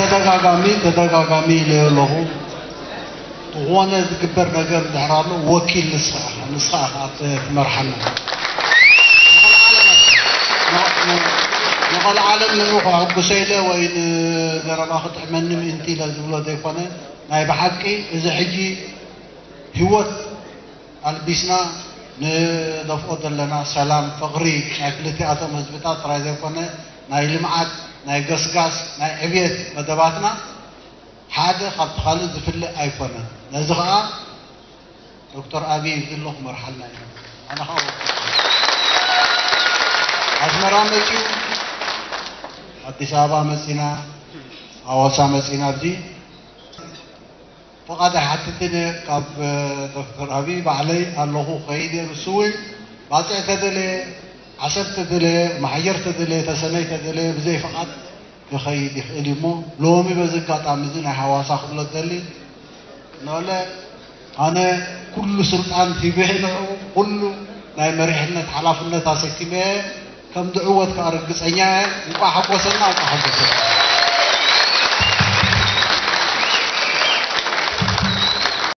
ተደጋጋሚ ተደጋጋሚ ኢለዮ ኣለኹ። ዝኾነ ዝግበር ነገር እንድሕር ኣሎ፣ ወኪል ንስኻ ኢኻ፣ ንስኻ ኢኻ ትመርሓና። ንቐልዓለም ንዑ ከሐጉሰ ኢለ ወይ ንዘረባ ክጥዕመኒ ምእንቲ ኢለ ዝብሎ ዘይኮነ፣ ናይ ብሓቂ እዚ ሕጂ ህይወት ኣልቢስና ንደፍኦ ዘለና ሰላም፣ ፍቕሪ ናይ ክልቲኣቶም ህዝብታት ጥራይ ዘይኮነ፣ ናይ ልምዓት፣ ናይ ገስጋስ፣ ናይ ዕብየት መደባትና ሓደ ካብቲ ካልእ ዝፍለ ኣይኮነን። ነዚ ኸኣ ዶክተር ኣብይ ዝሎ ክመርሓልና እዩ። ኣነ ኸኣ ወኪል ኣስመራ መጺኡ፣ ኣዲስ ኣበባ መጺና፣ ኣዋሳ መጺና፣ ኣብዚ ፍቓድ ኣይሓትትን እየ ካብ ዶክተር ኣብይ፣ ባዕለይ ኣለኹ፣ ኸይድ እየ። ንሱ እውን ባፅዕ ተደለየ፣ ዓሰብ ተደለየ፣ ማሕየር ተደለየ፣ ተሰነይ ተደለየ፣ ብዘይ ፍቓድ ክኸይድ ይኽእል እዩ። እሞ ሎሚ በዚ ኣጋጣሚ እዚ ናይ ሃዋሳ ክብሎ ዝደሊ፣ ንበለ ኣነ ኩሉ ስልጣን ሂበ ንዕኡ፣ ኩሉ ናይ መሪሕነት ሓላፍነት ኣሰኪመ እየ። ከም ዝዕወት ከኣ ርግጸኛ እየ። እንቋዕ ሓጎሰና፣ እንቋዕ ሓጎሰና።